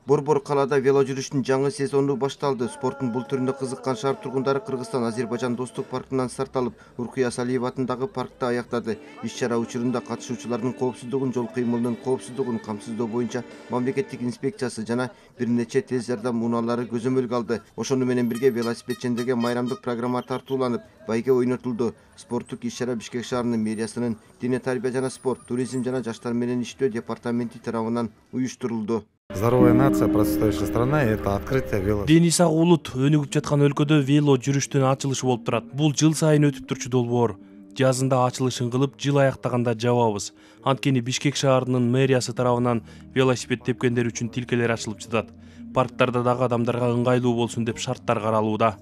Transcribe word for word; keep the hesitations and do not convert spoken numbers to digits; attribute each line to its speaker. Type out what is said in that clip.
Speaker 1: Борбор калаада вело жүрүштүн жаңы сезону башталды. Спорттун бул түрүнө кызыккан шаар тургундары Кыргызстан Азербайжан достук паркынан старт алып, Уркуя Салиева атындагы паркта аяктады. Иш-чара учурунда катышуучулардын коопсуздугун, жол кыймылынын коопсуздугун камсыздоо боюнча мамлекеттик инспекциясы жана бир нече тез жардам унаалары көзөмөлгө алды. Ошону менен бирге велосипедчилерге майрамдык программа тартууланып, байге ойнотулду. Спорттук иш-чара Бишкек шаарынын мэриясынын Дене тарбия жана спорт, туризм жана жаштар менен иштөө департаменти тарабынан уюштурулду.
Speaker 2: Здоровая нация, процветающая страна – это открытие вело.
Speaker 3: Дени сак улут өнүгүп жаткан өлкөдө вело жүрүштүн ачылышы болуп турат. Бул жыл сайын өтүп турчу долбоор. Жазында ачылышын кылып, жыл аяктаганда жабабыз. Анткени Бишкек шаарынын мэриясы тарабынан велосипед тепкендер үчүн тилкелер ачылып жатат. Парктарда дагы адамдарга ыңгайлуу болсун деп шарттар каралууда.